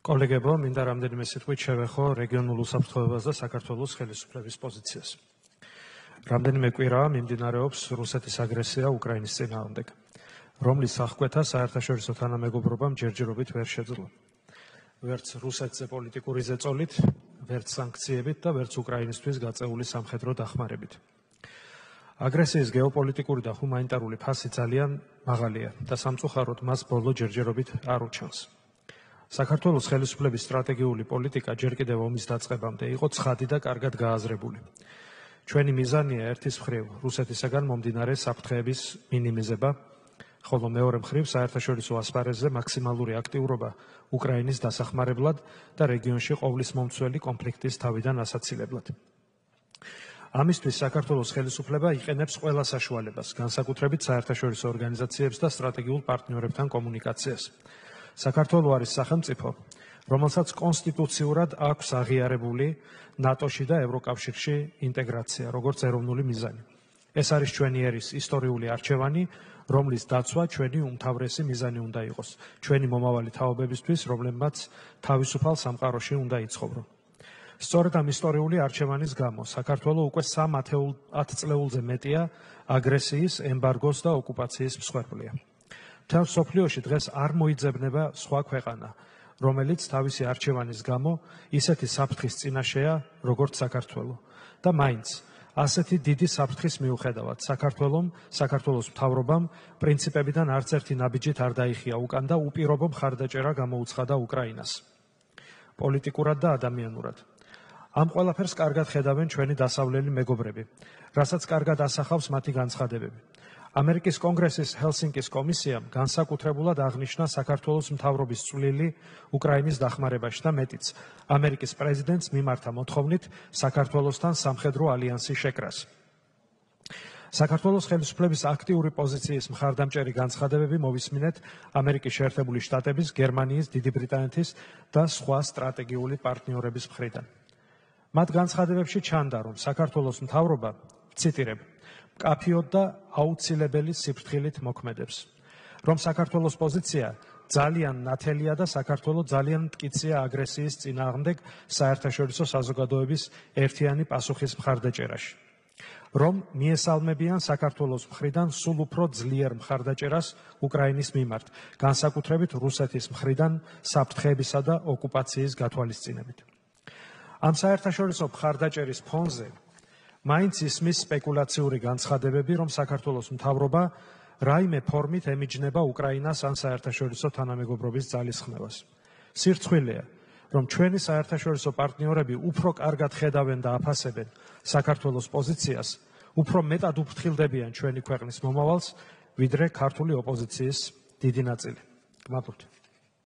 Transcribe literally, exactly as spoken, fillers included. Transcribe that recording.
კოლეგებო, მინდა რამდენიმე სიტყვით შევეხო რეგიონულ უსაფრთხოებას და საქართველოს ხელისუფლების პოზიციას. რამდენიმე კვირაა მიმდინარეობს რუსეთის აგრესია უკრაინის წინააღმდეგ, რომლის აღკვეთა საერთაშორისო თანამეგობრობამ ჯერჯერობით ვერ შეძლო. ვერც რუსეთზე პოლიტიკური ზეწოლით, ვერც სანქციებით და ვერც უკრაინისთვის გაწეული სამხედრო დახმარებით. აგრესიის გეოპოლიტიკური და ჰუმანიტარული ფასი ძალიან მაღალია და სამწუხაროდ მას ბოლო ჯერჯერობით არ უჩანს. საქართველოს ხელისუფლების სტრატეგიული პოლიტიკა ჯერ კიდევ ომის დაწყებამდე იყო ცხადი და კარგად გააზრებული. ჩვენი მიზანია ერთის მხრივ რუსეთისაგან მომდინარე საფრთხეების მინიმიზება, ხოლო მეორე მხრივ საერთაშორისო ასპარეზზე მაქსიმალური აქტიურობა უკრაინის დასახმარებლად და რეგიონში ყოვლის მომცველი კონფლიქტის თავიდან ასაცილებლად. ამისთვის საქართველოს ხელისუფლება იყენებს ყველა საშუალებას, განსაკუთრებით საერთაშორისო ორგანიზაციებს და სტრატეგიულ პარტნიორებთან კომუნიკაციას. საქართველო არის სახელმწიფო, რომელსაც კონსტიტუციურად აქვს აღიარებული ნატოში და ევროკავშირში ინტეგრაცია, როგორც ეროვნული მიზანი. ეს არის ჩვენი ერის ისტორიული არჩევანი, რომლის დაცვა ჩვენი უმთავრესი მიზანი უნდა იყოს, ჩვენი მომავალი თაობებისთვის, რომლებმაც თავისუფალ სამყაროში უნდა იცხოვრონ. სწორედ ამ ისტორიული არჩევანის გამო საქართველო უკვე სამ ათწლეულზე მეტია აგრესიის, ემბარგოს და ოკუპაციის მსხვერპლია. მთელ მსოფლიოში დღეს არ მოიძებნება სხვა ქვეყანა, რომელიც თავისი არჩევანის გამო ისეთი საფრთხის წინაშეა, როგორც საქართველო. და მაინც ასეთი დიდი საფრთხის მიუხედავად საქართველომ, საქართველოს მთავრობამ პრინციპებიდან არც ერთი ნაბიჯით არ დაიხია უკან და უპირობო მხარდაჭერა გამოუცხადა უკრაინას. პოლიტიკურად და ადამიანურად. ამ ყველაფერს კარგად ხედავენ ჩვენი დასავლელი მეგობრები, რასაც კარგად ასახავს მათი განცხადებები. ამერიკის კონგრესის ჰელსინკის კომისიამ განსაკუთრებულად აღნიშნა საქართველოს მთავრობის წვლილი უკრაინის დახმარებაში და მეტიც, ამერიკის პრეზიდენტს მიმართა მოთხოვნით საქართველოსთან სამხედრო ალიანსის შეკრას. საქართველოს ხელისუფლების აქტიური პოზიციის მხარდამჭერი განცხადებები მოვისმინეთ ამერიკის შეერთებული შტატების, გერმანიის, დიდი ბრიტანეთის და სხვა სტრატეგიული პარტნიორების მხრიდან. მათ განცხადებებში ჩანდა, რომ საქართველოს მთავრობა, ციტირებ, მკაფიოდ და აუცილებელი სიფრთხილით მოქმედებს, რომ საქართველოს პოზიცია ძალიან ნათელია და საქართველო ძალიან მტკიცეა აგრესიის წინააღმდეგ საერთაშორისო საზოგადოების ერთიანი პასუხის მხარდაჭერაში, რომ მიესალმებიან საქართველოს მხრიდან სულ უფრო ძლიერ მხარდაჭერას უკრაინის მიმართ, განსაკუთრებით რუსეთის მხრიდან საფრთხეებისა და ოკუპაციის გათვალისწინებით. ამ საერთაშორისო მხარდაჭერის ფონზე მაინც ისმის სპეკულაციური განცხადებები, რომ საქართველოს მთავრობა რაიმე ფორმით ემიჯნება უკრაინას ან საერთაშორისო თანამეგობრობის ძალისხმევას. სირცხვილია, რომ ჩვენი საერთაშორისო პარტნიორები უფრო კარგად ხედავენ და აფასებენ საქართველოს პოზიციას, უფრო მეტად უფრთხილდებიან ჩვენი ქვეყნის მომავალს, ვიდრე ქართული ოპოზიციის დიდი ნაწილი. გმაბრთ.